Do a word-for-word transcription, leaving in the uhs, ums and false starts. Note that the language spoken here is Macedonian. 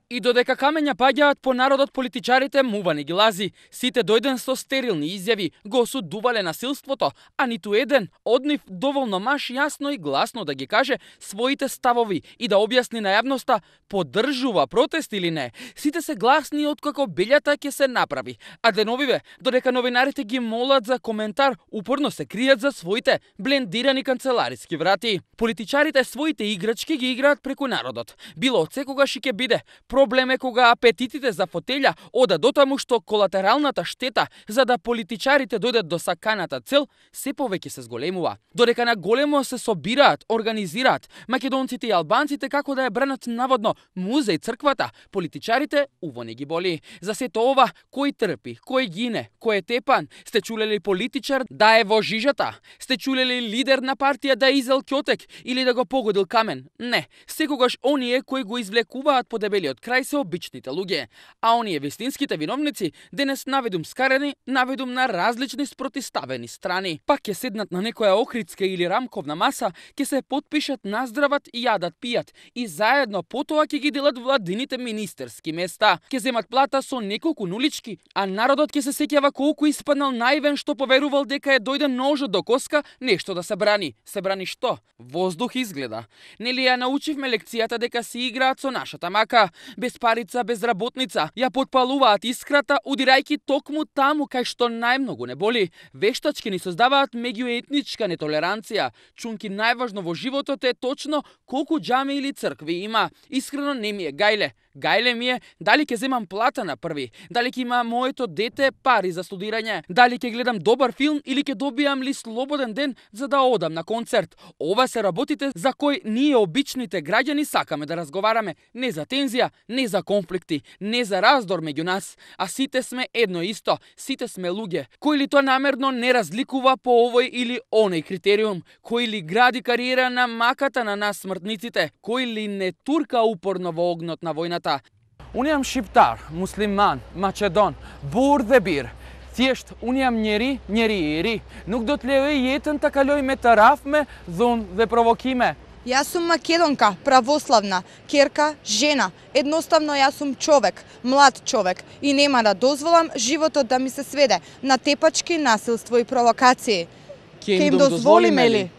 И додека камења паѓаат по народот, политичарите мува не ги лази. Сите дојден со стерилни изјави, го осудувале насилството, а ниту еден од нив доволно маш јасно и гласно да ги каже своите ставови и да објасни на јавноста поддржува протест или не. Сите се гласни откако белјата ќе се направи, а деновиве, додека новинарите ги молат за коментар, упорно се кријат за своите блендирани канцелариски врати. Политичарите своите играчки ги играат преку народот. Било од секогаш и ќе биде. Проблем е кога апетитите за фотелја одат дотаму што колатералната штета за да политичарите дојдат до саканата цел се повеќе се зголемува. Додека на големо се собираат, организираат македонците и албанците како да ја бранат наводно музеј црквата, политичарите уво не ги боли. За сето ова, кој трпи, кој гине, кој е тепан, сте чулели политичар да е во жижата? Сте чулели лидер на партија да е изел ќотек или да го погодил камен? Не, секогаш оние кои го извлекуваат по дебелиот крај се обичните луѓе, а оние вистинските виновници денес наведум скарени, наведум на различни спротиставени страни. Пак ќе седнат на некоја охридска или рамковна маса, ќе се потпишат наздрават и јадат пијат и заедно потоа ќе ги делат владините министерски места. Ќе земат плата со неколку нулички, а народот ќе се сеќава колку испаднал наивен што поверувал дека е дојде ножот до коска нешто да се брани. Се брани што? Воздух изгледа. Нели ја научивме лекцијата дека си играат со нашата мака, без парица, без работница, ја потпалуваат искрата, удирајќи токму таму кај што најмногу не боли. Вештачки ни создаваат меѓуетничка нетолеранција. Чунки најважно во животот е точно колку џами или цркви има. Искрено не ми е гајле. Гајле ми е дали ќе земам плата на први, дали ќе има моето дете пари за студирање, дали ќе гледам добар филм или ќе добијам ли слободен ден за да одам на концерт. Ова се работите за кои ние обичните граѓани сакаме да разговараме, не за тензија, не за конфликти, не за раздор меѓу нас, а сите сме едно исто, сите сме луѓе. Кој ли тоа намерно не разликува по овој или оној критериум, кој ли гради кариера на маката на нас смртниците, кој ли не турка упорно во огнот на војната. Уnë jam shqiptar, musliman, maqedon, burr dhe birr. Thjesht, unë jam njeri, njeri i ri. Nuk do të lejoj jetën të kaloj me të rafme, dhunë dhe provokime. Јас сум македонка, православна, керка, жена. Едноставно јас сум човек, млад човек и нема да дозволам животот да ми се сведе на тепачки, насилство и провокации. Ке им дозволиме ли?